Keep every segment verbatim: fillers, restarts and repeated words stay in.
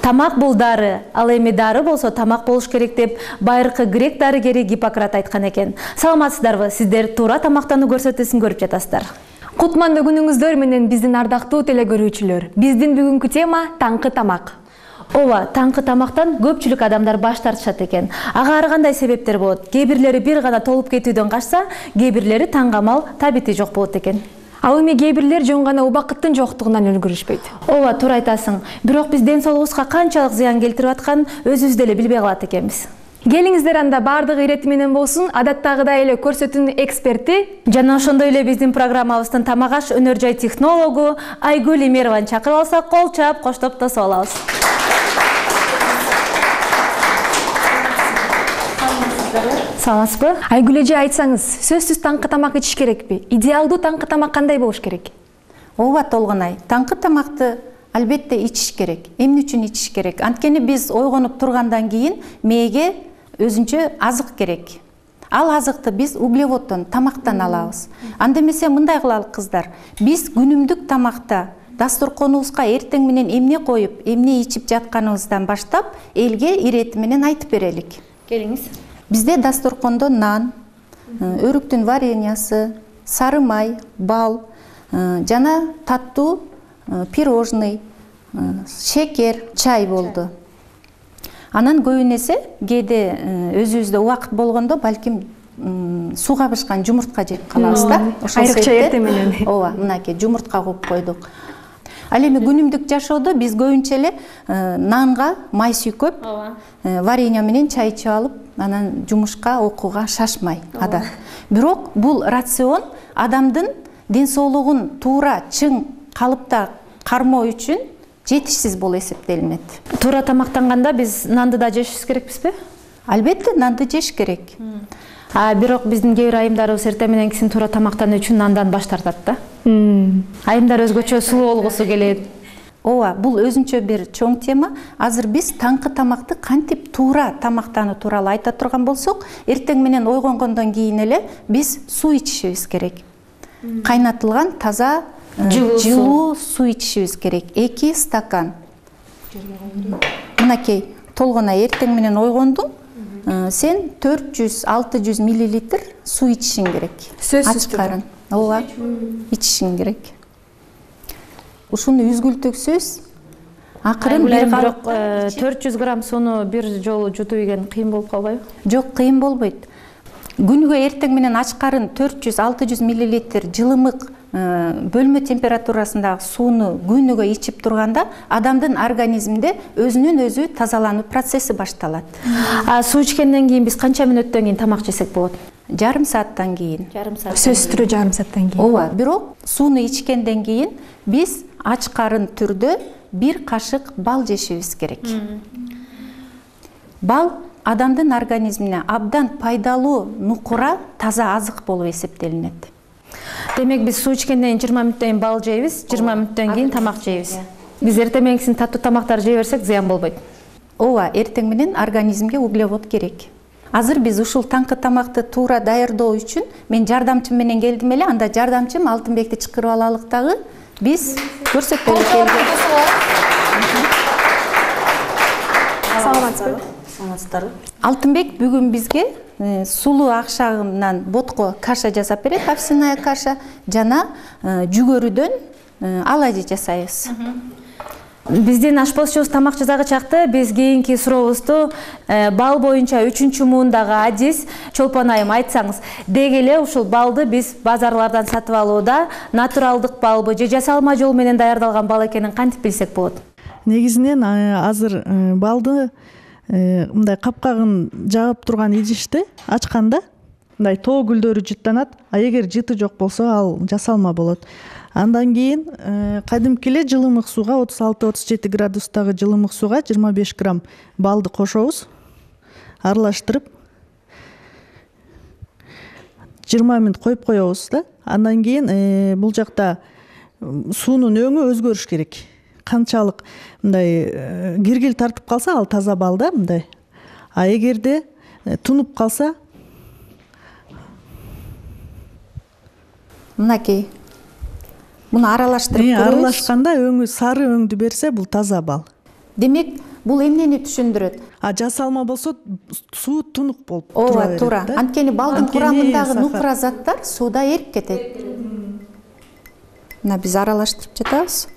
Тамак бул дары, ал эми дары болсо тамак болуш керек деп байыркы грек дарыгери Гиппократ айткан экен. Саламатсыздарбы, сиздер туура тамактануу көрсөтүүсүн көрүп жатасыздар. Кутмандуу күнүңүздөр менен биздин ардактуу теле көрүүчүлөр. Биздин бүгүнкү тема таңкы тамак. Ооба, таңкы тамактан көпчүлүк адамдар баш тартышат экен. Ага ар кандай себептер болот? Кээ бирлери бир гана толуп кетүүдөн качса, кээ бирлери таңгамал табити жок болот экен. Ал эми кээ бирлер жөн гана убакыттын жоктугунан өлгүрүшпөйт. Ооба, туура айтасың. Бирок биз ден соолугубузга канчалык зыян келтирип атканын өзүбүз деле билбей калат экенбиз. Келиңиздер анда бардыгы ирети менен болсун, адаттагыдай эле көрсөтүүнүн эксперти жана ошондой эле биздин программабыздын тамак аш өнөр жай технологу Айгүл Эмерованы чакырып алсак, кол чаап коштоп тосуп алабыз. Саламатсызбы? Айгүл эже, айтсаңыз, сөзсүз таңкы тамак ичиш керекпи? Идеалдуу таңкы тамак кандай болуш керек? Ооба, Толгонай, таңкы тамакты албетте ичиш керек. Эмне үчүн ичиш керек? Анткени биз ойгонуп тургандан кийин мээге өзүнчө азык керек. Ал азыкты биз углеводдон, тамактан алабыз. Анда эмесе мындай кылалы кыздар. Биз күнүмдүк тамакта дасторконубузга эртең менен эмне коюп, эмне ичип жатканыбыздан баштап элге ирети менен айтып берелик. Келиңиз. Бизде дасторкондо нан, өрүктүн вареньясы, сары май, бал, жана таттуу пирожный, шекер, чай болду. Анан көбүнесе кээде өзүбүздө убакыт болгондо балким суу кабышкан жумуртка жеп калабыз да. Айрыкча эртең менен. Ооба, мынакей жумуртка коюп койдук. Ал эми күнүмдүк жашоодо биз көбүнчө эле нанга май сүйкөп, варенье менен чай ичип алып, анан жумушка, окууга шашмай адат. Бирок бул рацион адамдын ден соолугун туура чың калыпта кармоо үчүн жетишсиз болуп эсептелинет. Туура тамактанганда биз нанды да жешибиз керекпизби? Албетте нанды жеш керек. А бирок биздин кээ бир айымдарыбыз эртең менен кийин туура тамактануу үчүн нандан баш тартат да. Айымдар өзгөчө сулуу болгусу келет. Ооба, бул өзүнчө бир чоң тема. Азыр биз таңкы тамакты кантип туура тамактануу тууралуу айта турган болсок, эртең менен ойгонгондон кийин эле биз суу ичишибиз керек. Кайнатылган таза жылуу суу ичишибиз керек. эки стакан. Мынакей, Толгонай, эртең менен ойгондуң, сен төрт жүз алты жүз миллилитр суу ичишиң керек. Сөзсүз карын. Ооба, ичишиң керек. Ушуну үзгүлтүксүз акырын бир бирок төрт жүз грамм сууну бир жолу жутуп ийген кыйын болуп калбайбы? Жок, кыйын болбойт. Күнгө эртең менен ач карын төрт жүз алты жүз миллилитр жылымык бөлмө температурасындагы сууну күнүгө ичип турганда адамдын организминде өзүнөн өзү тазалануу процесси башталат. А суу ичкенден кийин биз канча мүнөттөн кийин тамак жесек болот? Жарым сааттан кийин. Жарым саат. Сөзсүз түрдө жарым сааттан кийин. Ооба, бирок сууну ичкенден кийин биз ач карын түрдө бир кашык бал жешибиз керек. Бал адамдын организмине абдан пайдалуу нукура таза азык болуп эсептелинет. Демек биз суу ичкенден жыйырма мүнөттөн кийин бал жейбиз, жыйырма мүнөттөн кийин тамак жейбиз. Биз эртең менен кийин таттуу тамактар жей берсек зыян болбойт. Ооба, эртең менен организмге углевод керек. Азыр биз ушул таңкы тамакты туура даярдоо үчүн мен жардамчым менен келдим эле. Анда жардамчым Алтынбекти чакырып алалык дагы. Биз көрсөтөлүк келдик. Саламатсызбы? Саламатсыздарбы? Алтынбек бүгүн бизге сулуу акшагынан ботко каша жасап берет, овсяная каша, жана жүгөрүдөн оладьи жасайбыз. Биздин ашпозчубуз тамак жасагы чакта биз кийинки сурообузду бал боюнча үчүнчү муундагы адис Чолпон айым айтсаңыз, деги эле ушул балды биз базарлардан сатып алууда натуралдык балбы же жасалма жол менен даярдалган бал экенин кантип билсек болот? Негизинен азыр балды мындай капкагын жаап турган идишти ачканда мындай тоо гүлдөрү жыттанат, а эгер жыты жок болсо ал жасалма болот. Андан кийин кадимки эле жылымык сууга отуз алты отуз жети градустагы жылымык сууга жыйырма беш грамм балды кошобуз. Аралаштырып жыйырма мүнөт коюп коебуз да. Андан кийин бул жакта суунун өңү өзгөрүш керек. Канчалык мындай киргил тартып калса ал таза бал да мындай. А эгерде тунуп калса мынакей Муну аралаштырып көрөбүз. Аралашканда өңү сары өңдү берсе бул таза бал. Демек, Бул эмнени түшүндүрөт? А жасалма болсо суу тунук болуп тура Ооба, берет туура. да. Анткени балдын Анткени курамындагы сахар. нукура заттар сууда эрип кетет. Мына биз аралаштырып жатабыз.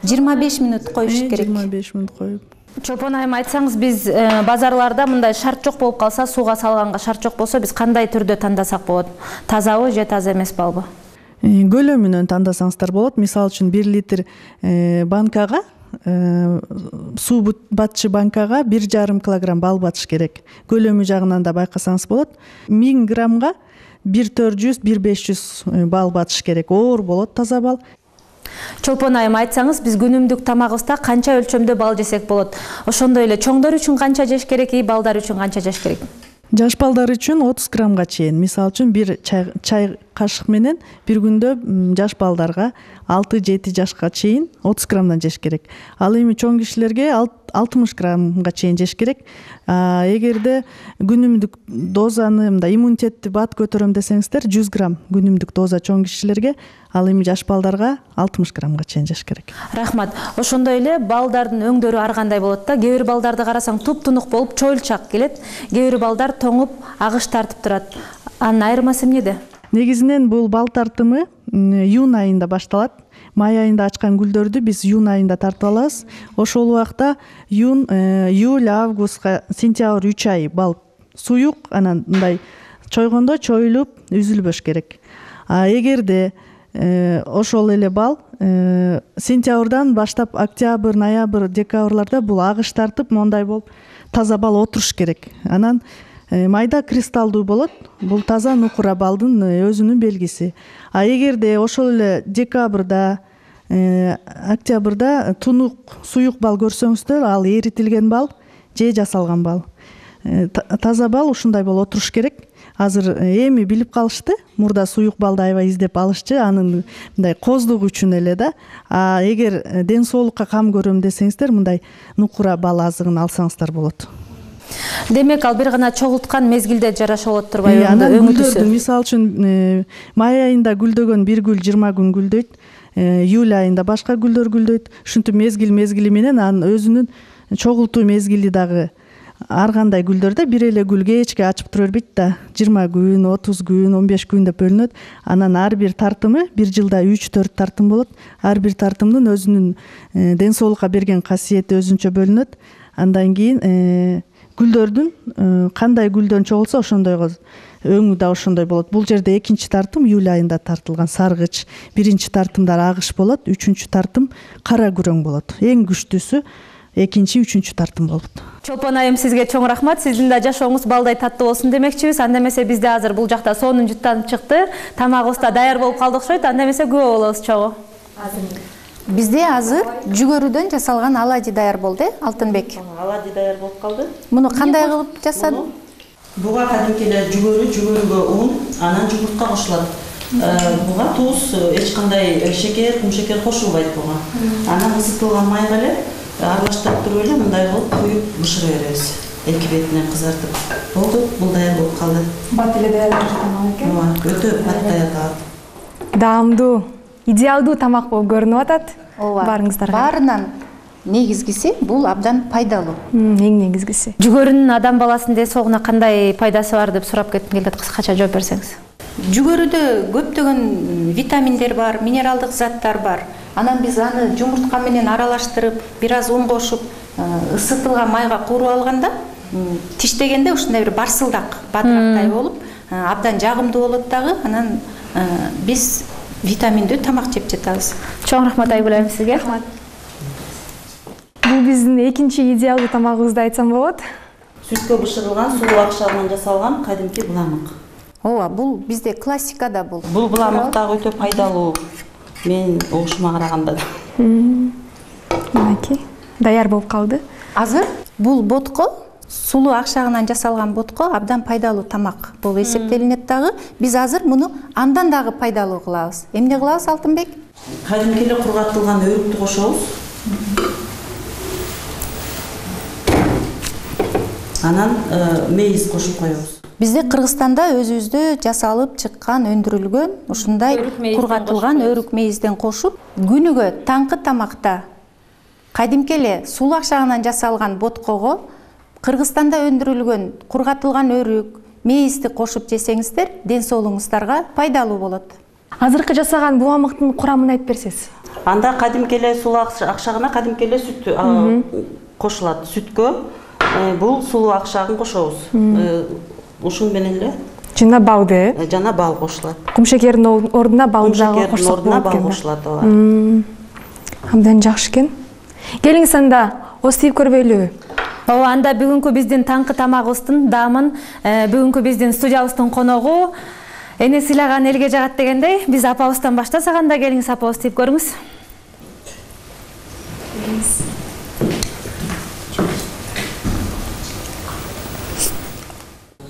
жыйырма беш минут коюш керек. жыйырма беш минут коюп. Чолпон айым, айтсаңыз, биз базарларда мындай шарт жок болуп калса, сууга салганга шарт жок болсо, биз кандай түрдө тандасак болот? Тазабы же таза эмес балбы? Көлөмүнөн тандасаңыздар болот. Мисалы үчүн бир литр банкага, суу батчы банкага бир жарым килограмм бал батыш керек. Көлөмү жагынан да байкасаңыз болот. миң граммга бир төрт жүз бир беш жүз бал батыш керек. Оор болот таза бал. Чолпон айым, айтсаңыз, биз күнүмдүк тамагыбызда канча өлчөмдө бал жесек болот? Ошондой эле чоңдор үчүн канча жеш керек, и балдар үчүн канча жеш керек? Жаш балдар үчүн отуз граммга чейин. Мисалы үчүн бир чай, чай кашык менен бир күндө жаш балдарга алты жети жашка чейин отуз граммдан жеш керек. Ал эми чоң кишилерге алтымыш граммга чейин жеш керек. Эгерде күнүмдүк дозаны, мындай иммунитетти бат көтөрөм десеңиздер, жүз грамм күнүмдүк доза чоң кишилерге, ал эми жаш балдарга алтымыш граммга чейин жеш керек. Рахмат. Ошондой эле балдардын өңдөрү ар кандай болот да. Кээ бир балдарды карасаң туп-тунук болуп, чойлчак келет. Кээ бир балдар тоңуп, агыш тартып турат. Анын айырмасы эмнеде? Негизинен бул бал тартымы июнь айында башталат. Май айында ачкан гүлдөрдү биз июнь айында тартып алабыз. Ошол убакта июнь, июль, августка, сентябрь үч ай бал суюк, анан мындай чойгондо чоюлуп үзүлбөш керек. А эгерде ошол эле бал сентябрдан баштап октябрь, ноябрь, декабрларда бул агыш тартып, мондай болуп таза бал отуруш керек. Анан майда кристалдуу болот. Бул таза нукура балдын өзүнүн белгиси. А эгерде ошол эле декабрда, октябрда тунук, суюк бал көрсөңүздөр, ал эритилген бал же жасалган бал. Таза бал ушундай болуп отуруш керек. Азыр эми билип калышты. Мурда суюк балды аябай издеп алышчы, анын мындай коздугу үчүн эле да. А эгер ден соолукка кам көрөм десеңиздер, мындай нукура бал азыгын алсаңыздар болот. Демек, ал бир гана чогулткан мезгилде жараша болот турбайбы? Анан гүлдөрдү, мисалы үчүн май айында гүлдөгөн бир гүл жыйырма күн гүлдөйт, июль айында башка гүлдөр гүлдөйт. Ушинтип мезгил мезгили менен анын өзүнүн чогултуу мезгили дагы ар кандай гүлдөрдө бир эле гүл кечке ачып тура бербейт да. жыйырма күн, отуз күн, он беш күн деп бөлүнөт. Анан ар бир тартымы бир жылда үч төрт тартым болот. Ар бир тартымдын өзүнүн ден соолукка берген касиети өзүнчө бөлүнөт. Андан кийин гүлдөрдүн кандай гүлдөн чогулса ошондойго өңү да ошондой болот. Бул жерде экинчи тартым июль айында тартылган саргыч, биринчи тартымдар агыш болот, үчүнчү тартым кара күрөң болот. Эң күчтүүсү экинчи, үчүнчү тартым болот. Чолпон айым, сизге чоң рахмат. Сиздин да жашооңуз балдай таттуу болсун демекчибиз. Анда эмесе бизде азыр бул жакта сонун жуттанып чыкты. Тамагыбыз да даяр болуп калды окшойт. Анда эмесе күбө болобуз чогуу. Бизде азыр жүгөрүдөн жасалган алади даяр болду, Алтынбек. Алади даяр болуп калды. Муну кандай кылып жасадың? Буга кадимки эле жүгөрү, жүгөрүгө ун, анан жумуртка кошулат. Буга туз, эч кандай шекер, кум шекер кошулбайт буга. Анан ысытылган майга эле аралаштырып туруп эле мындай кылып куюп бышыра беребиз. Эки бетинен кызартып. Болду, бул даяр болуп калды. Бат эле даяр болуп экен. Ооба, өтө бат даяр. Даамдуу, идеалдуу тамак болуп көрүнүп атат. Ооба. Барыңыздарга. Баарынан негизгиси бул абдан пайдалуу. Эң негизгиси. Жүгөрүнүн адам баласынын ден соолугуна кандай пайдасы бар деп сурап кетким келет, кыскача жооп берсеңиз. Жүгөрүдө көптөгөн витаминдер бар, минералдык заттар бар. Анан биз аны жумуртка менен аралаштырып, бир аз ун кошуп, ысытылган майга кууруп алганда, тиштегенде ушундай бир барсылдак, бадырактай болуп, абдан жагымдуу болот дагы. Анан биз витаминдүү тамак жеп жатабыз. Чоң рахмат Айгүл айым сизге. Рахмат. Бул биздин экинчи идеалдуу тамагыбызды айтсам болот. Сүткө бышырылган, сулуу акшагынан жасалган кадимки буламык. Ооба, бул бизде классикада бул. Бул буламык дагы өтө пайдалуу. Мен оошума караганда да. Мынакей, даяр болуп калды. Азыр бул ботко, сулуу акшагынан жасалган ботко абдан пайдалуу тамак болуп эсептелинет дагы. Биз азыр муну андан дагы пайдалуу кылабыз. Эмне кылабыз, Алтынбек? Кадимки эле кургатылган өрүктү кошобуз. Анан мейиз кошуп коебуз. Бизде Кыргызстанда өзүбүздө жасалып чыккан, өндүрүлгөн ушундай кургатылган өрүк мейизден кошуп, күнүгө таңкы тамакта кадимки эле сулуу акчагынан жасалган боткого Кыргызстанда өндүрүлгөн кургатылган өрүк, мейизди кошуп жесеңиздер, ден соолугуңуздарга пайдалуу болот. Азыркы жасаган буамыктын курамын айтып берсеңиз. Анда кадимки эле сулуу акчагына кадимки эле сүт кошулат. Сүткө бул сулуу акчагын кошобуз. Ушун менен эле жана балды, жана бал кошулат. Кумшекердин ордуна балды дагы кошсок болот экен. Бал кошулат, ооба. Абдан жакшы экен. Келиңиз анда остип көрбөйлүбү? Ооба, анда бүгүнкү биздин таңкы тамагыбыздын даамын бүгүнкү биздин студиябыздын коногу эне сыйлаган элге жагат дегендей, биз апабыздан баштасак, анда келиңиз апа остип көрүңүз.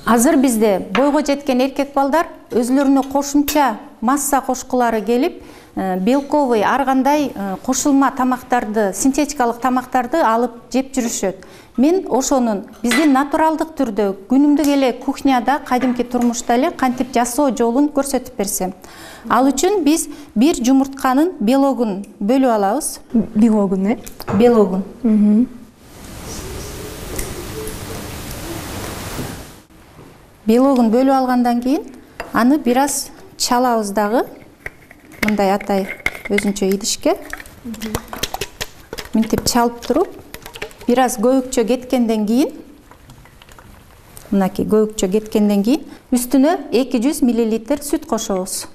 Азыр бизде бойго жеткен эркек балдар өзлөрүнө кошумча масса кошкулары келип, белковый ар кандай кошулма тамактарды, синтетикалык тамактарды алып жеп жүрүшөт. Мен ошонун биздин натуралдык түрдө күнүмдүк эле кухняда, кадимки турмушта эле кантип жасоо жолун көрсөтүп берсем. Ал үчүн биз бир жумуртканын белогун бөлүп алабыз. Белогун, э? Белогун. Белогун бөлүп алгандан кийин аны бир аз чалабыз дагы. Мындай атай өзүнчө идишке. Мынтип чалып туруп, бир аз көбүкчө кеткенден кийин, мынакей көбүкчө кеткенден кийин үстүнө эки жүз миллилитр сүт кошобуз.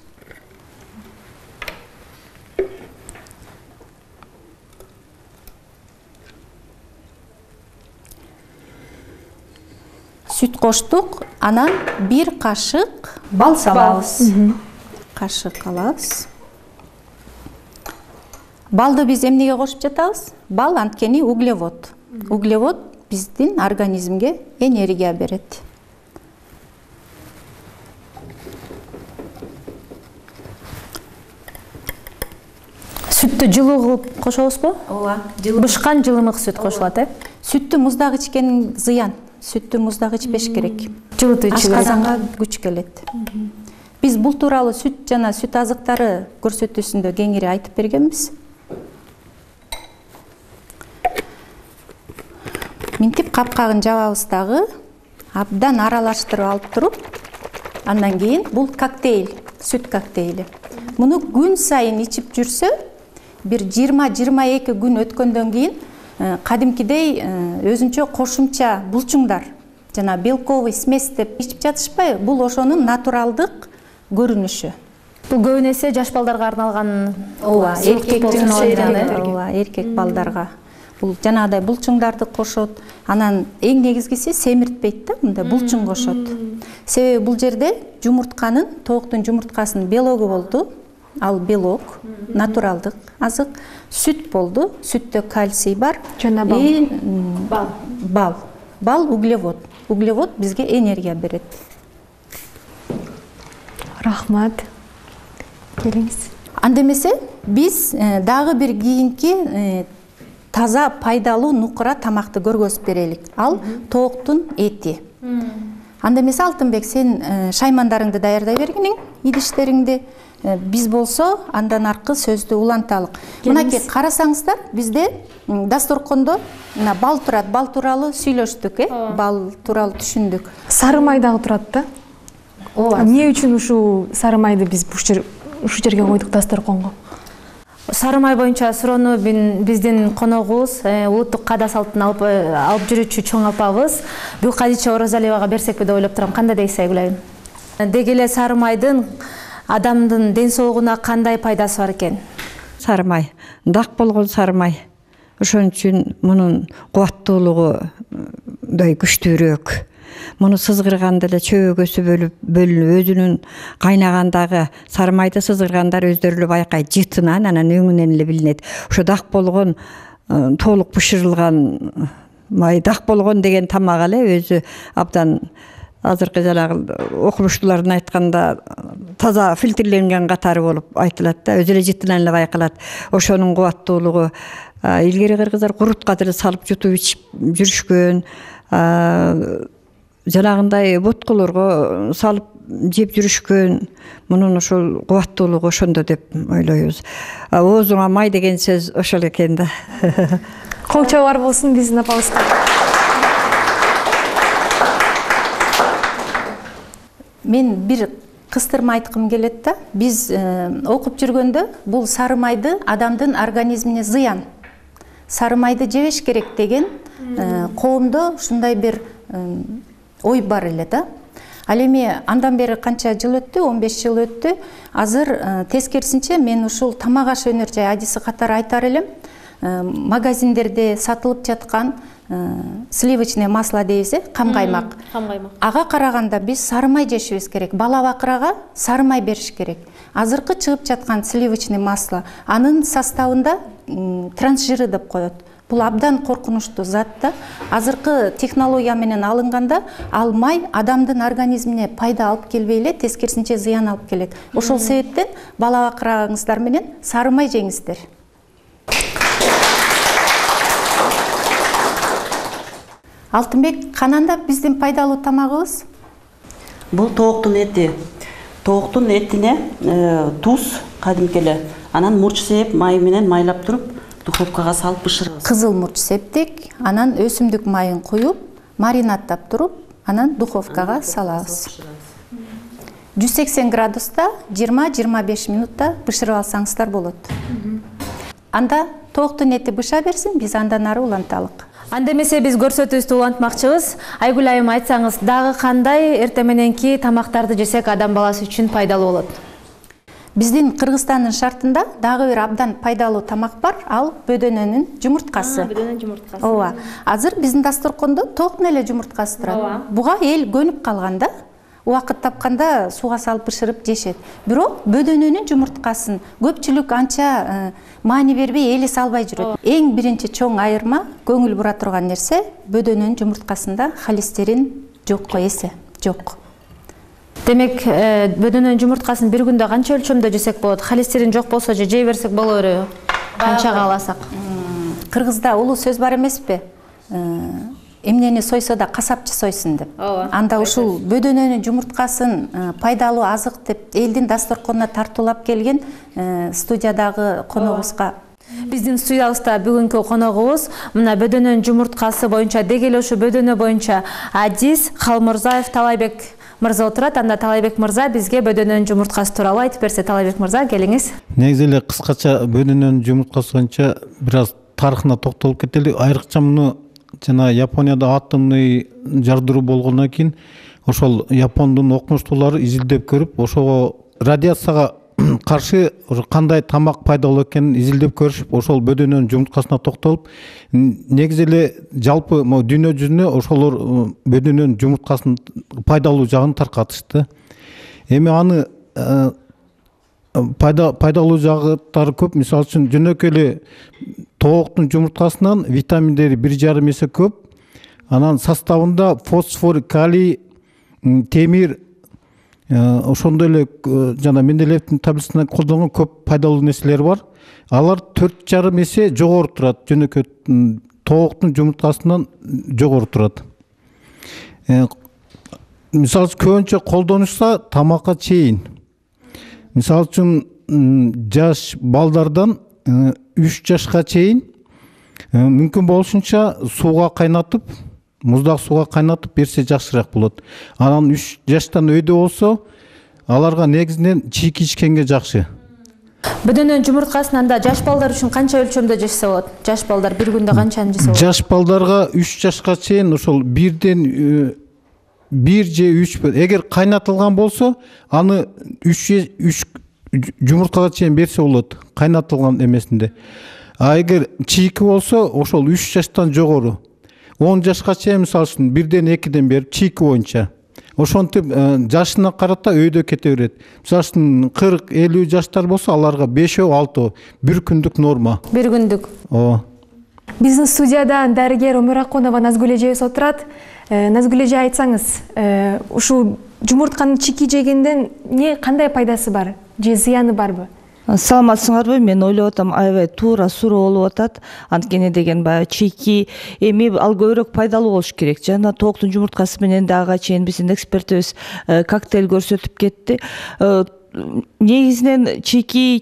Сүт коштук, анан бир кашык бал салабыз. Кашык алабыз. Балды биз эмнеге кошуп жатабыз? Бал анткени углевод. Углевод биздин организмге энергия берет. Сүттү жылуу кылып кошобузбу? Ооба, Бышкан жылымык сүт кошулат, э? Сүттү муздак ичкен зыян. Сүттү муздак ичпеш керек. Жылытуу ичүү керек. Ашказанга күч келет. Биз бул тууралуу сүт жана сүт азыктары көрсөтүүсүндө кеңири айтып бергенбиз. Минтип капкагын жабабыз дагы, абдан аралаштырып алып туруп, андан кийин бул коктейль, сүт коктейли. Муну күн сайын ичип жүрсө, бир жыйырма жыйырма эки күн өткөндөн кийин кадимкидей өзүнчө кошумча булчуңдар жана белковый смесь деп ичип жатышпайбы? Бул ошонун натуралдык көрүнүшү. Бул көбүн эсе жаш балдарга арналган. Ооба, эркек ооба, эркек балдарга. Бул жанагыдай булчуңдарды кошот. Анан эң негизгиси семиртпейт да, мындай булчуң кошот. Себеби бул жерде жумуртканын, тооктун жумурткасынын белогу болду. Ал белок, натуралдык азык. Сүт болду. Сүттө кальций бар. Жана бал. Бал. Бал. Бал углевод. Углевод бизге энергия берет. Рахмат. Келиңиз. Анда эмесе биз дагы бир кийинки таза пайдалуу нукура тамакты көргөзүп берелик. Ал тооктун эти. Анда эмесе Алтынбек, сен шаймандарыңды даярдай бергиниң, идиштериңди. Биз болсо андан аркы сөздү уланталык. Мынакей карасаңыздар, бизде дасторкондо мына бал турат, бал тууралуу сүйлөштүк, э? Бал тууралуу түшүндүк. Сары май дагы турат да? Ооба. Эмне үчүн ушул сары майды биз ушу жерге койдук дасторконго? Сары май боюнча суроону биздин коногубуз, улуттук каада салтын алып алып жүрүүчү чоң апабыз Булкадича Оразалиевага берсекпи деп ойлоп турам. Кандай дейсиз Айгүл? Деги эле сары майдын адамдын ден соолугуна кандай пайдасы бар экен? Сары май, дак болгон сары май. Ошон үчүн мунун кубаттуулугу дай күчтүүрөөк. Муну сызгырганда эле чөбөгөсү бөлүп, бөлүнүп, өзүнүн кайнагандагы сары майды сызгыргандар өздөрү эле байкайт, жытынан анан өңүнөн эле билинет. Ошо дак болгон, толук бышырылган май, дак болгон деген тамак эле өзү абдан азыркы жанагы окумуштуулардын айтканда таза фильтрленген катары болуп айтылат да, өзү эле жытынан эле байкалат. Ошонун кубаттуулугу илгери кыргыздар курутка деле салып жутуп ичип жүрүшкөн, жанагындай ботколорго салып жеп жүрүшкөн. Мунун ошол кубаттуулугу ошондо деп ойлойбуз. Оозуңа май деген сөз ошол экен да. Кол чабар болсун биздин апабызга. Мен бир кыстырма айткым келет да. Биз окуп жүргөндө бул сары майды адамдын организмине зыян. Сары майды жебеш керек деген коомдо ушундай бир ой бар эле да. Ал эми андан бери канча жыл өттү? он беш жыл өттү. Азыр тескерисинче мен ушул тамак аш өнөр жай адиси катары айтар элем. Магазиндерде сатылып жаткан сливочное масло дейбиз, кам каймак. Ага караганда биз сары май жешибиз керек. Бала бакырага сары май бериш керек. Азыркы чыгып жаткан сливочное масло анын составында трансжиры деп коет. Бул абдан коркунучтуу зат да. Азыркы технология менен алынганда ал май адамдын организмине пайда алып келбей эле, тескерисинче зыян алып келет. Ошол себептен бала бакырагыңыздар менен сары май жеңиздер. Алтынбек, кананда биздин пайдалуу тамагыбыз? Бул тооктун эти. Тооктун этине туз кадимки эле, анан мурч сеп май менен майлап туруп духовкага салып бышырабыз. Кызыл мурч септик, анан өсүмдүк майын куюп, маринаттап туруп, анан духовкага салабыз. жүз сексен градуста жыйырма жыйырма беш минутта бышырып алсаңыздар болот. Анда тооктун эти быша берсин, биз андан ары уланталык. Анда эмесе биз көрсөтүүбүздү улантмакчыбыз. Айгүл айым, айтсаңыз, дагы кандай эртең мененки тамактарды жесек адам баласы үчүн пайдалуу болот? Биздин Кыргызстандын шартында дагы бир абдан пайдалуу тамак бар, ал бөдөнөнүн жумурткасы. Бөдөнөнүн жумурткасы. Ооба. Азыр биздин дасторкондо тооктун эле жумурткасы турат. Буга эл көнүп калганда, убакыт тапканда сууга салып бышырып жешет. Бирок бөдөнөнүн жумурткасын көпчүлүк анча маани бербей эли салбай жүрөт. Эң биринчи чоң айырма, көңүл бура турган нерсе, бөдөнөнүн жумурткасында холестерин жокко эсе, жок. Демек, бөдөнөнүн жумурткасын бир күндө канча өлчөмдө жесек болот? Холестерин жок болсо же жей берсек боло береби? Канчага аласак? Кыргызда улуу сөз бар эмеспи? Эмнени сойсо да касапчы сойсун деп. Анда ушул бөдөнөнүн жумурткасын пайдалуу азык деп элдин дасторконуна тартуулап келген студиядагы коногубузга. Биздин студиябызда бүгүнкү коногубуз мына бөдөнөнүн жумурткасы боюнча, деги эле ушу бөдөнө боюнча адис Калмырзаев Талайбек мырза отурат. Анда Талайбек мырза бизге бөдөнөнүн жумурткасы тууралуу айтып берсе. Талайбек мырза, келиңиз. Негизи эле кыскача бөдөнөнүн жумурткасы боюнча бир аз тарыхына токтолуп кетели. Айрыкча муну жана Японияда атомный жардыруу болгондон кийин ошол Япондун окумуштуулары изилдеп көрүп, ошого радиацияга каршы кандай тамак пайдалуу экенин изилдеп көрүшүп, ошол бөдөнөнүн жумурткасына токтолуп, негизи эле жалпы дүйнө жүзүнө ошолор бөдөнөнүн жумурткасынын пайдалуу жагын таркатышты. Эми аны пайда пайдалуу жагыттары көп. Мисалы үчүн жөнөкөй эле тооктун жумурткасынан витаминдери бир жарым эсе көп. Анан составында фосфор, калий, темир, ошондой эле жана Менделеевдин таблицасында колдонгон көп пайдалуу нерселер бар. Алар төрт жарым эсе жогору турат, жөнөкөй тооктун жумурткасынан жогору турат. Мисалы үчүн көбүнчө колдонушса тамакка чейин. Мисалы үчүн жаш балдардан үч жашка чейин мүмкүн болушунча сууга кайнатып, муздак сууга кайнатып берсе жакшыраак болот. Анан үч жаштан өйдө болсо, аларга негизинен чийки ичкенге жакшы. Бөдөнөнүн жумурткасын анда жаш балдар үчүн канча өлчөмдө жешсе болот? Жаш балдар бир күндө канчаны жесе болот? Жаш балдарга үч жашка чейин ошол бирден бир же үч, эгер кайнатылган болсо, аны үч үч жумурткага чейин берсе болот, кайнатылган эмесинде. А эгер чийки болсо, ошол үч жаштан жогору. он жашка чейин мисалы үчүн бирден экиден берип, чийки боюнча. Ошентип жашына карата өйдө кете берет. Мисалы үчүн кырк элүү жаштар болсо, аларга бешөө алтоо бир күндүк норма. Бир күндүк. Ооба. Биздин студияда дарыгер Өмүракунова Назгүл эжебиз отурат. Назгүл эже, айтсаңыз, ушул жумуртканын чийки жегенден не кандай пайдасы бар? Же зыяны барбы? Саламатсыңарбы? Мен ойлоп атам, аябай туура суроо болуп атат. Анткени деген баягы чийки эми ал көбүрөөк пайдалуу болуш керек. Жана тооктун жумурткасы менен дагы чейин биздин экспертибиз коктейль көрсөтүп кетти. негизинен чийки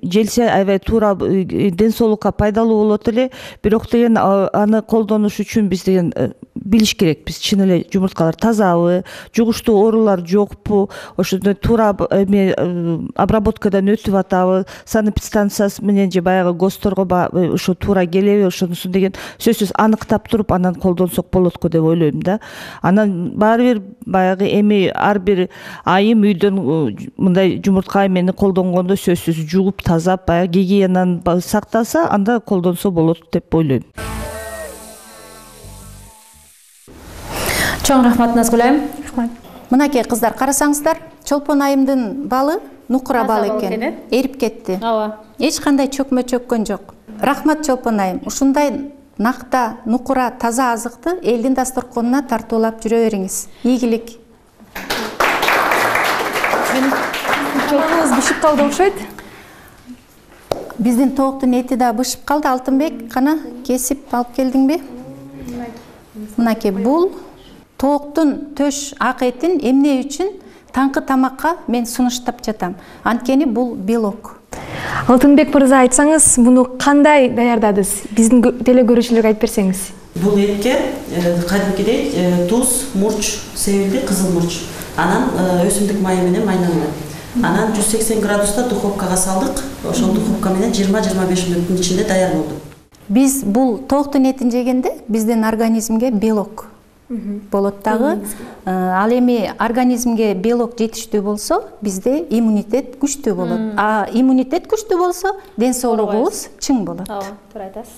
желсе аябай туура ден соолукка пайдалуу болот эле, бирок деген аны колдонуш үчүн биз деген билиш керек. Биз чын эле жумурткалар тазабы, жугуштуу оорулар жокпу, ошондой туура эме обработкадан өтүп атабы, санэпидстанциясы менен же баягы ГОСТорго ошо туура келеби, ошонусу деген сөзсүз аныктап туруп анан колдонсок болот го деп ойлойм да. Анан баары бир баягы эми ар бир айым үйдөн мындай жумуртка эмени колдонгондо сөзсүз жууп тазап баягы гигиенаны сактаса, анда колдонсо болот деп ойлойм. Чоң рахмат Назгүл айым. Мынакей кыздар, карасаңыздар, Чолпон айымдын балы нукура бал экен, эрип кетти. Ооба. Эч кандай чөкмө чөккөн жок. Рахмат Чолпон айым. Ушундай накта, нукура, таза азыкты элдин дасторконуна тартуулап жүрө бериңиз. Ийгилик. Чолпонуңуз бышып калды окшойт. Биздин тооктун эти да бышып калды. Алтынбек, кана кесип алып келдиңби? Мынакей бул тооктун төш ак этин эмне үчүн таңкы тамакка мен сунуштап жатам. Анткени бул белок. Алтынбек мырза, айтсаңыз, муну кандай даярдадыңыз? Биздин теле көрүүчүлөргө айтып берсеңиз. Бул этке кадимкидей туз, мурч себилди, кызыл мурч. Анан өсүмдүк майы менен майнанды. Анан жүз сексен градуста духовкага салдык. Ошол духовка менен жыйырма жыйырма беш мүнөттүн ичинде даяр болду. Биз бул тооктун этин жегенде биздин организмге белок болот дагы. Ал эми организмге белок жетиштүү болсо, бизде иммунитет күчтүү болот. А иммунитет күчтүү болсо, ден соолугубуз чың болот. Ооба, туура айтасыз.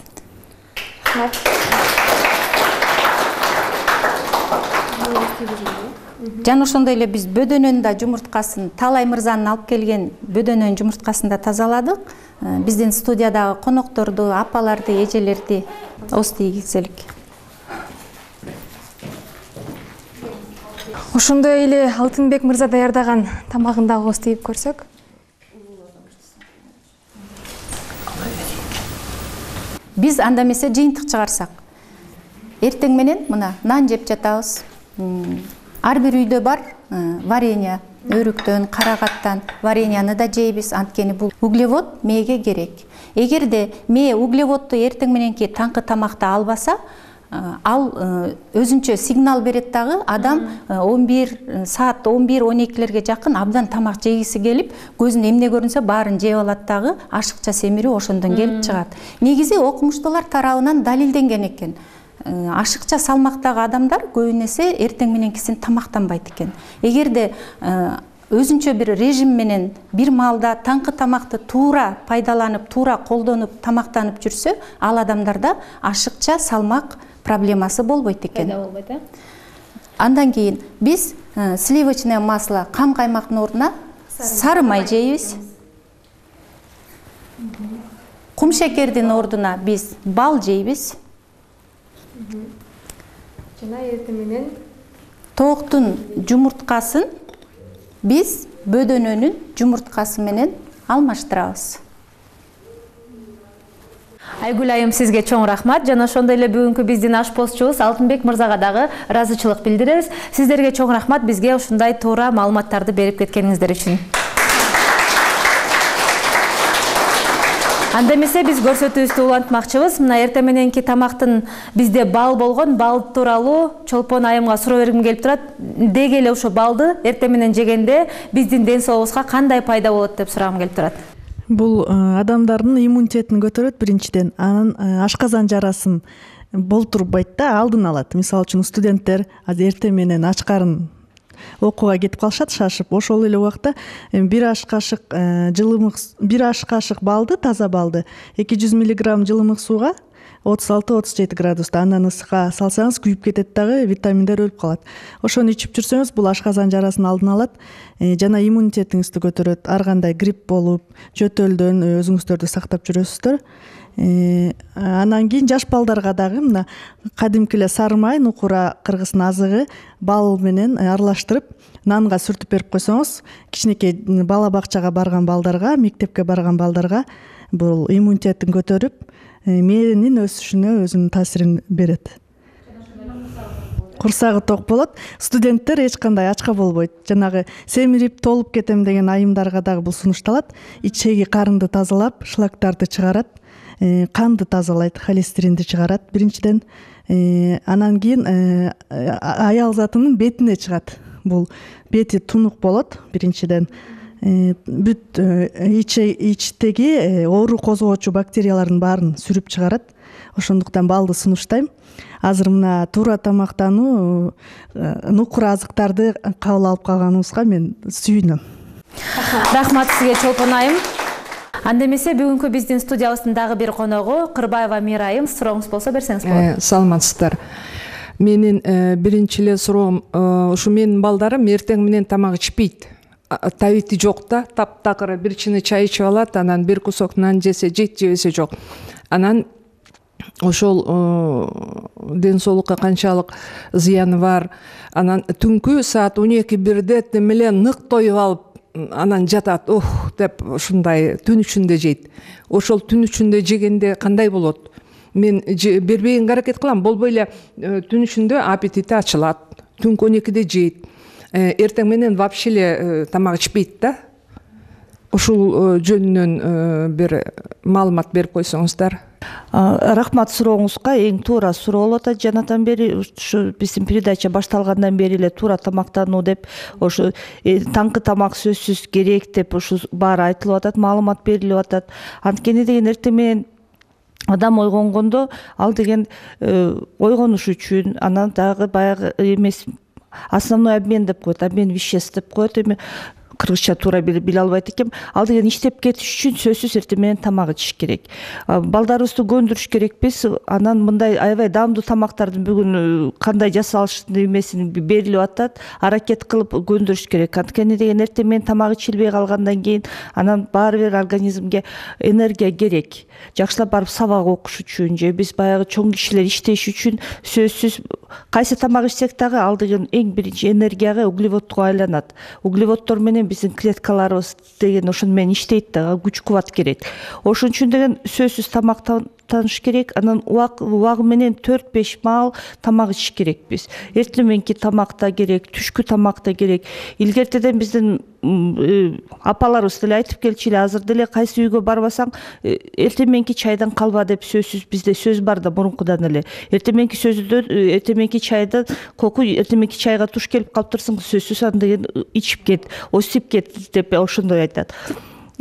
Жана ошондой эле биз бөдөнөнүн да жумурткасын, Талай мырзанын алып келген бөдөнөнүн жумурткасын да тазаладык. Биздин студиядагы конокторду, апаларды, эжелерди ости ийгилселик. Ошондой эле Алтынбек мырза даярдаган тамагын дагы остейип көрсөк. Биз анда эмесе жыйынтык чыгарсак. Эртең менен мына нан жеп жатабыз. Ар бир үйдө бар варенье, өрүктөн, карагаттан вареньяны да жейбиз, анткени бул углевод мээге керек. Эгерде мээ углеводду эртең мененки таңкы тамакта албаса, ал өзүнчө сигнал берет дагы, адам он бир саат, он бир он экилерге жакын абдан тамак жегиси келип, көзүнө эмне көрүнсө баарын жеп алат дагы, ашыкча семирүү ошондон келип чыгат. Негизи окумуштуулар тарабынан далилденген экен. Ашыкча салмактагы адамдар көбүнесе эртең мененкисин тамактанбайт экен. Эгерде өзүнчө бир режим менен бир маалда таңкы тамакты туура пайдаланып, туура колдонуп, тамактанып жүрсө, ал адамдарда ашыкча салмак проблемасы болбойт экен. Пайда болбойт, э? Андан кийин биз сливочное масло, кам каймактын ордуна сары май жейбиз. Кум шекердин ордуна биз бал жейбиз. Жана эртең менен тооктун жумурткасын биз бөдөнөнүн жумурткасы менен алмаштырабыз. Айгүл айым, сизге чоң рахмат. Жана ошондой эле бүгүнкү биздин ашпозчубуз Алтынбек мырзага дагы ыраазычылык билдиребиз. Сиздерге чоң рахмат бизге ушундай туура маалыматтарды берип кеткениңиздер үчүн. Анда эмесе биз көрсөтүүбүздү улантмакчыбыз. Мына эртең мененки тамактын бизде бал болгон, бал тууралуу Чолпон айымга суроо бергим келип турат. Деги эле ошо балды эртең менен жегенде биздин ден соолугубузга кандай пайда болот деп сурагым келип турат. Бул адамдардын иммунитетин көтөрөт биринчиден, анан ашказан жарасын болтурбайт да, алдын алат. Мисалы үчүн студенттер азыр эртең менен ач карын окууга кетип калышат шашып, ошол эле убакта бир аш кашык жылымык, бир аш кашык балды, таза балды эки жүз миллиграмм жылымык сууга отуз алты отуз жети градуста андан ысыкка салсаңыз күйүп кетет дагы, витаминдер өлүп калат. Ошону ичип жүрсөңүз, бул ашказан жарасын алдын алат жана иммунитетиңизди көтөрөт. Ар кандай грипп болуп, жөтөлдөн өзүңүздөрдү сактап жүрөсүздөр. Анан кийин жаш балдарга дагы мына кадимки эле сары май, нукура кыргыздын азыгы бал менен аралаштырып нанга сүртүп берип койсоңуз, кичинекей бала бакчага барган балдарга, мектепке барган балдарга бул иммунитетин көтөрүп, мээнин өсүшүнө өзүнүн таасирин берет. курсагы ток болот. Студенттер эч кандай ачка болбойт. Жанагы семирип толуп кетем деген айымдарга дагы бул сунушталат. Ичеги карынды тазалап, шлактарды чыгарат, канды тазалайт, холестеринди чыгарат биринчиден. Анан кийин аял затынын бетине чыгат. Бул бети тунук болот биринчиден. Бүт ичтеги оору козгоочу бактериялардын баарын сүрүп чыгарат. Ошондуктан балды сунуштайм. Азыр мына туура тамактануу, нукур азыктарды кабыл алып калганыбызга мен сүйүнөм. Рахмат сизге Чолпон айым. Анда эмесе бүгүнкү биздин студиябыздын дагы бир коногу Кырбаева Мира айым. Сурооңуз болсо берсеңиз болот. Саламатсыздар. Менин биринчи эле суроом, ушу менин балдарым эртең менен тамак ичпейт. Табити жок да, таптакыр бир чыны чай ичип алат, анан бир кусок нан жесе жейт, жебесе жок. Анан ошол ден соолукка канчалык зыяны бар. Анан түнкү саат он эки бирде менен нык тоюп алып, анан жатат, ох деп ушундай түн ичинде жейт. Ошол түн ичинде жегенде кандай болот? Мен бербегенге аракет кылам, болбой эле түн ичинде аппетити ачылат. Түнкү он экиде жейт. Эртең менен вообще эле тамак ичпейт да. Ушул жөнүнөн бир маалымат берип койсоңуздар. Рахмат сурооңузга. Эң туура суроо болуп атат. Жанатан бери ушу биздин передача башталгандан бери эле туура тамактануу деп, ошо таңкы тамак сөзсүз керек деп ушу баары айтылып атат, маалымат берилип атат. Анткени деген эртең менен адам ойгонгондо ал деген ойгонуш үчүн, анан дагы баягы эмес основной обмен деп коет, обмен веществ деп коет. Эми кыргызча туура биле албайт экенм. Ал деген иштеп кетиш үчүн сөзсүз эртең менен тамак ичиш керек. Балдарыбызды көндүрүш керекпиз. Анан мындай аябай даамдуу тамактардын бүгүн кандай жасалыштын эмесин берилип атат. Аракет кылып көндүрүш керек. Анткени деген эртең менен тамак ичилбей калгандан кийин анан баары бир организмге энергия керек. Жакшылап барып сабак окуш үчүн же биз баягы чоң кишилер иштеш үчүн сөзсүз кайсы тамак ичсек дагы ал деген эң биринчи энергияга, углеводко айланат. Углеводдор менен биздин клеткаларыбыз деген ошону менен иштейт да, күч кубат керек. Ошон үчүн деген сөзсүз тамактаныш керек. Анан убагы менен төрт беш маал тамак ичиш керекпиз. Эртең мененки тамакта керек, түшкү тамакта керек. Илгертеден биздин апаларыбыз деле айтып келчү эле, азыр деле кайсы үйгө барбасаң эртең мененки чайдан калба деп сөзсүз бизде сөз бар да мурункудан эле. Эртең мененки сөздөн эртең мененки чайдан коку, эртең мененки чайга туш келип калып турсаң сөзсүз аны деген ичип кет, осип кет деп ошондой айтат.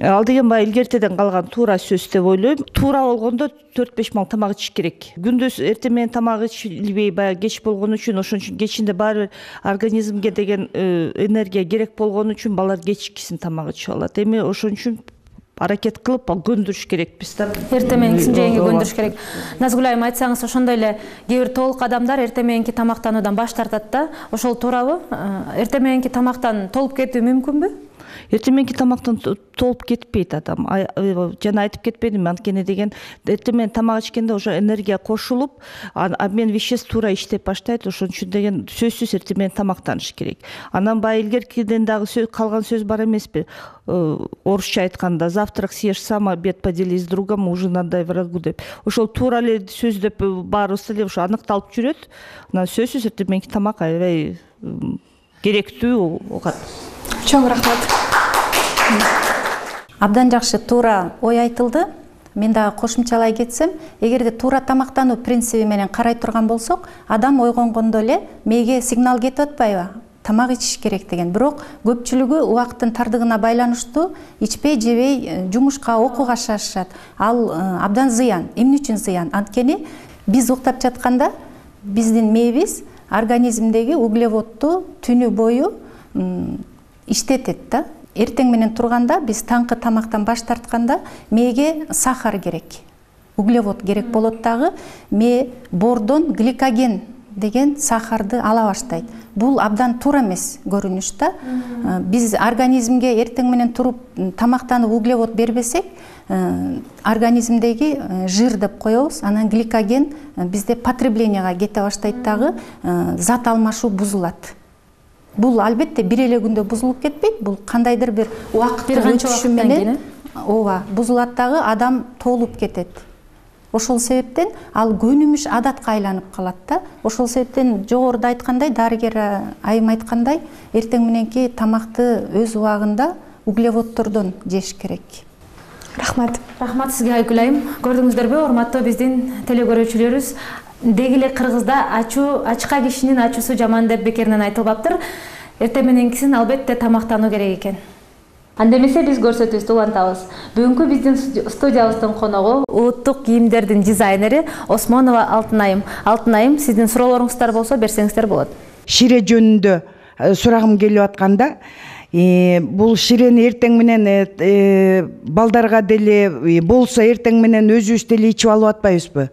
Ал деген баягы илгертеден калган туура сөз деп ойлойм. Туура болгондо төрт беш маал тамак ичиш керек. Күндөс эртең менен тамак ичилбей баягы кеч болгон үчүн, ошон үчүн кечинде баары бир организмге деген энергия керек болгон үчүн балдар кечкисин тамак ичип алат. Эми ошон үчүн аракет кылып көндүрүш керекпиз да. Эртең мененкисин жегенге көндүрүш керек. Назгүл айым, айтсаңыз, ошондой эле кээ бир толук адамдар эртең мененки тамактануудан баш тартат да. Ошол туурабы? Эртең мененки тамактан толуп кетүү мүмкүнбү? Эртең мененки тамактан толуп кетпейт адам. Жана айтып кетпедимби, анткени деген эртең менен тамак ичкенде уже энергия кошулуп, обмен веществ туура иштеп баштайт. Ошон үчүн деген сөзсүз эртең менен тамактаныш керек. Анан баягы илгеркиден дагы калган сөз бар эмеспи? Орусча айтканда, завтрак съешь сам, обед поделись с другом, ужин отдай врагу деп. Ошол туура эле сөз деп баарыбыз эле ошо аныкталып жүрөт. Анан сөзсүз эртең мененки тамак аябай керектүү окат. Чоң рахмат. Абдан жакшы туура ой айтылды. Мен дагы кошумчалай кетсем, эгерде туура тамактануу принциби менен карай турган болсок, адам ойгонгондо эле мээге сигнал кетип атпайбы? Тамак ичиш керек деген. Бирок көпчүлүгү убакыттын тардыгына байланыштуу ичпей, жебей, жумушка, окууга шашышат. Ал абдан зыян. Эмне үчүн зыян? Анткени биз уктап жатканда биздин мээбиз организмдеги углеводду түнү бою иштетет да. Эртең менен турганда биз таңкы тамактан баш тартканда мээге сахар керек, углевод керек болот дагы. Мээ бордон гликоген деген сахарды ала баштайт. Бул абдан туура эмес көрүнүш да. Биз организмге эртең менен туруп тамактанып углевод бербесек, организмдеги жир деп коебуз, анан гликоген бизде потреблениега кете баштайт дагы, зат алмашуу бузулат. Бул албетте бир эле күндө бузулуп кетпейт, бул кандайдыр бир убакыттын өтүшү менен ооба бузулат дагы, адам толуп кетет. ошол себептен ал көнүмүш адатка айланып калат да. Ошол себептен жогоруда айткандай, дарыгер айым айткандай, эртең мененки тамакты өз убагында углеводдордон жеш керек. Рахмат. Рахмат сизге Айгүл айым. Көрдүңүздөрбү, урматтуу биздин телекөрүүчүлөрүбүз, дегеле Кыргызда ачуу ачка кишинин ачуусу жаман деп бекеринен айтылбаптыр. Эртең мененкисин албетте тамактануу керек экен. Анда эмесе биз көрсөтүүбүздү улантабыз. Бүгүнкү биздин студиябыздын коногу улуттук кийимдердин дизайнери Осмонова Алтын айым. Алтын айым, сиздин суроолоруңуздар болсо берсеңиздер болот. Шире жөнүндө сурагым келип атканда, бул ширени эртең менен балдарга деле болсо эртең менен өзүбүз деле ичип алып атпайбызбы?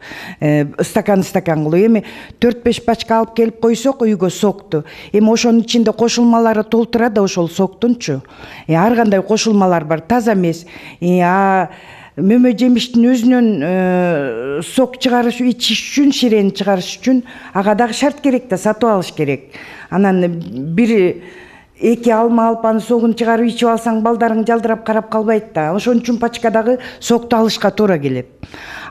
Стакан стакан кылып эми төрт беш пачка алып келип койсок үйгө сокту. Эми ошонун ичинде кошулмалары толтура да ошол соктунчу. Ар кандай кошулмалар бар, таза эмес. А мөмө жемиштин өзүнөн сок чыгарыш ичиш үчүн, ширени чыгарыш үчүн ага дагы шарт керек да, сатып алыш керек. Анан бир эки алма алпаны согун чыгарып ичип алсаң, балдарың жалдырап карап калбайт да. Ошон үчүн пачкадагы сокту алышка туура келет.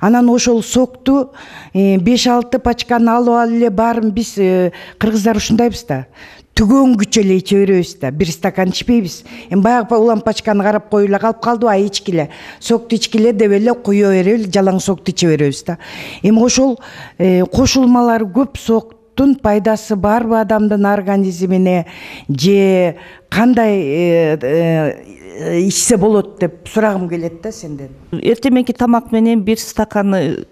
Анан ошол сокту беш алты пачканы алып алып эле баарын биз кыргыздар ушундайбыз да. Түгөнгүчө эле иче беребиз да, бир стакан ичпейбиз. Эми баягы улам пачканы карап коюп эле калып калдыбы, ай ичкиле. Сокту ичкиле деп эле куя берип эле жалаң сокту иче беребиз да. Эми ошол кошулмалар көп, сок пайдасы барбы адамдын организмине, же кандай ичсе болот деп сурагым келет да сенден. Эртең мененки тамак менен бир стаканы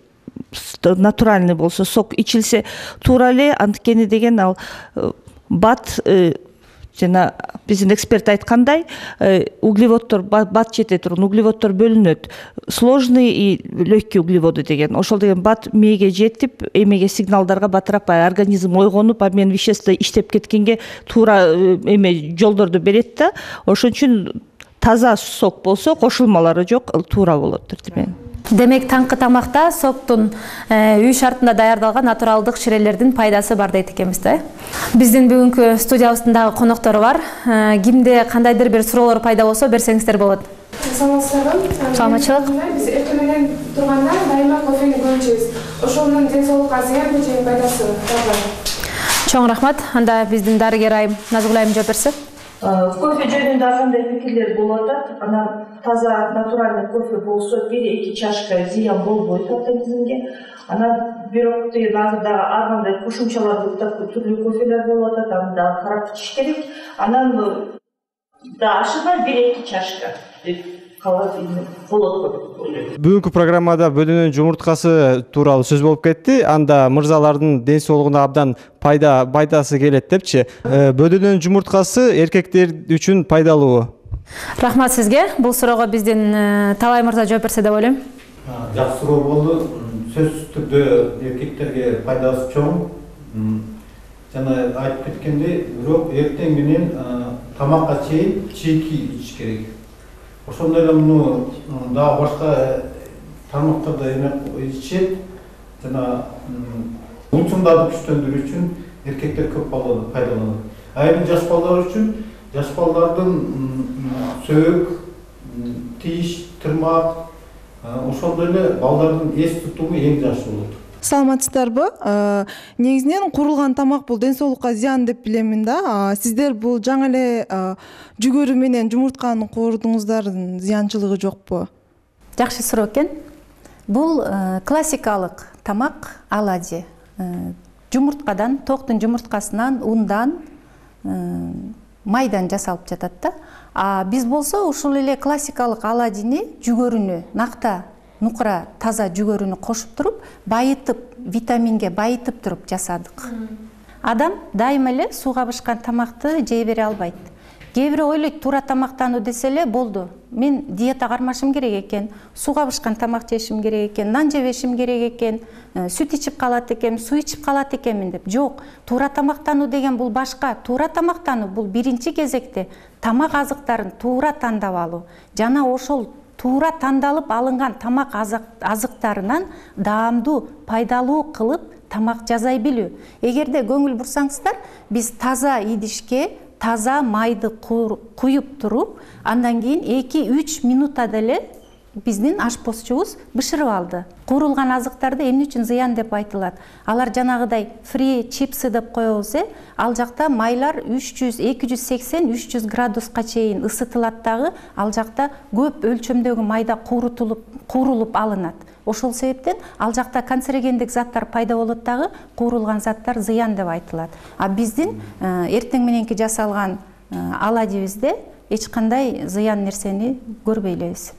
натуральный болсо, сок ичилсе туура эле, анткени деген ал бат, жана биздин эксперт айткандай, углеводдор бат жете турган углеводдор бөлүнөт. Сложный и легкий углеводы деген. Ошол деген бат мээге жетип, эмеге сигналдарга батыраак организм ойгонуп, обмен вещество иштеп кеткенге туура эме жолдорду берет да. Ошон үчүн таза сок болсо, кошулмалары жок, туура болот деп. Демек, таңкы тамакта соктун үй шартында даярдалган натуралдык ширелердин пайдасы бар дейт экенбиз да. Биздин бүгүнкү студиябыздын дагы коноктору бар. Кимде кандайдыр бир суроолор пайда болсо берсеңиздер болот. Саламатсыздарбы? Саламатчылык. Биз эртең менен турганда дайыма кофени көп ичебиз. Ошонун ден соолукка зыянбы же пайдасы барбы? Чоң рахмат. Анда биздин дарыгер айым Назгүл айым жооп берсе. Кофе жөнүндө ар кандай пикирлер болуп атат. Анан таза натуральный кофе болсо бир эки чашка зыян болбойт организмге. Анан бирок деген азыр дагы ар кандай кошумчалар түрлүү кофелер болуп атат, аны дагы карап ичиш керек. Анан да ашыгай бир эки чашка деп калат болот деп ойлойм. Бүгүнкү программада бөдөнүн жумурткасы тууралуу сөз болуп кетти. Анда мырзалардын ден соолугуна абдан пайда пайдасы келет депчи. Бөдөнүн жумурткасы эркектер үчүн пайдалуу. Рахмат сизге. Бул суроого биздин Талай мырза жооп берсе деп ойлойм. Жакшы суроо болду. Сөзсүз түрдө эркектерге пайдасы чоң. Жана айтып кеткендей, бирок эртең менен тамакка чейин чийки ичиш керек. Ошондой эле муну дагы башка тармактарда эме ичет. Жана унчуңдарды күчтөндүрүү үчүн эркектер көп пайдаланат. Айрым жаш балдар үчүн жаш балдардын сөök, тиш, тырмак, ошондой эле балдардын эс тутуму эң жакшы болот. Саламатсыздарбы? Негизинен курулган тамак бул ден соолукка зыян деп билемин да. Сиздер бул жаңы эле жүгөрү менен жумуртканы коордуңуздардын зыянчылыгы жокпу? Жакшы суроо экен. Бул классикалык тамак оладьи. Жумурткадан, токтун жумурткасынан, ундан, майдан жасалып жатат да. А биз болсо ушул эле классикалык оладьини, жүгөрүнү, накта нукура таза жүгөрүнү кошуп туруп, байытып, витаминге байытып туруп жасадык. Адам дайыма эле сууга бышкан тамакты жей бере албайт. Кээ бири ойлойт, туура тамактануу десе эле болду. Мен диета кармашым керек экен, сууга бышкан тамак жешим керек экен, нан жебешим керек экен, сүт ичип калат экенмин, суу ичип калат экенмин деп. Жок, туура тамактануу деген бул башка. Туура тамактануу бул биринчи кезекте тамак азыктарын туура тандап алуу. Жана ошол туура тандалып алынган тамак азыктарынан даамдуу, пайдалуу кылып тамак жасай билүү. Эгерде көңүл бурсаңыздар, биз таза идишке таза майды куюп туруп, андан кийин эки үч минутада эле биздин ашпозчубуз бышырып алды. Куурулган азыктарды эмне үчүн зыян деп айтылат? Алар жанагыдай фри чипсы деп коебуз, э? Ал жакта майлар үч жүз эки жүз сексен үч жүз градуска чейин ысытылат дагы, ал жакта көп өлчөмдөгү майда куурутулуп, куурулуп алынат. Ошол себептен ал жакта канцерогендик заттар пайда болот дагы, куурулган заттар зыян деп айтылат. А биздин эртең мененки жасалган оладьибизде эч кандай зыян нерсени көрбөй элебиз.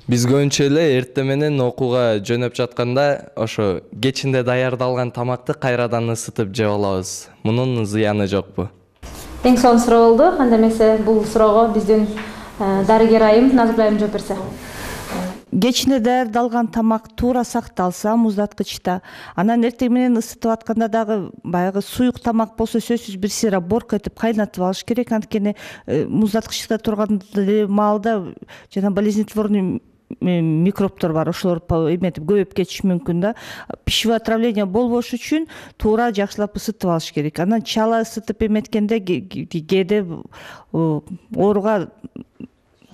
Биз көбүнчө эле эртең менен окууга жөнөп жатканда ошо кечинде даярдалган тамакты кайрадан ысытып жеп алабыз. Мунун зыяны жокпу? Эң сонун суроо болду. Анда эмесе бул суроого биздин дарыгер айым Назгүл айым жооп берсе. Кечинде даярдалган тамак туура сакталса муздаткычта, анан эртең менен ысытып атканда дагы баягы суюк тамак болсо сөзсүз бир сыйра борко этип кайнатып алыш керек. Анткени муздаткычта турган маалда жана болезнетворный микробтор бар, ошолор эметип көбөйүп кетиши мүмкүн да. Пищевое отравление болбош үчүн туура жакшылап ысытып алыш керек. Анан чала ысытып эметкенде кээде ооруга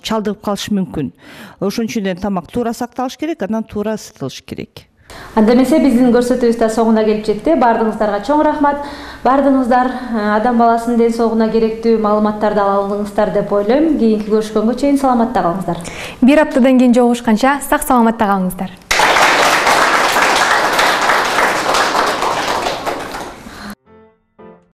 чалдыгып калышы мүмкүн. Ошон үчүн тамак туура сакталыш керек, анан туура ысытылыш керек. Анда эмесе биздин көрсөтүүбүз да соңуна келип жетти. Бардыгыңыздарга чоң рахмат. Бардыгыңыздар адам баласынын ден соолугуна керектүү маалыматтарды ала алдыңыздар деп ойлойм. Кийинки көрүшкөнгө чейин саламатта калыңыздар. Бир аптадан кийин жолугушканча сак саламатта калыңыздар.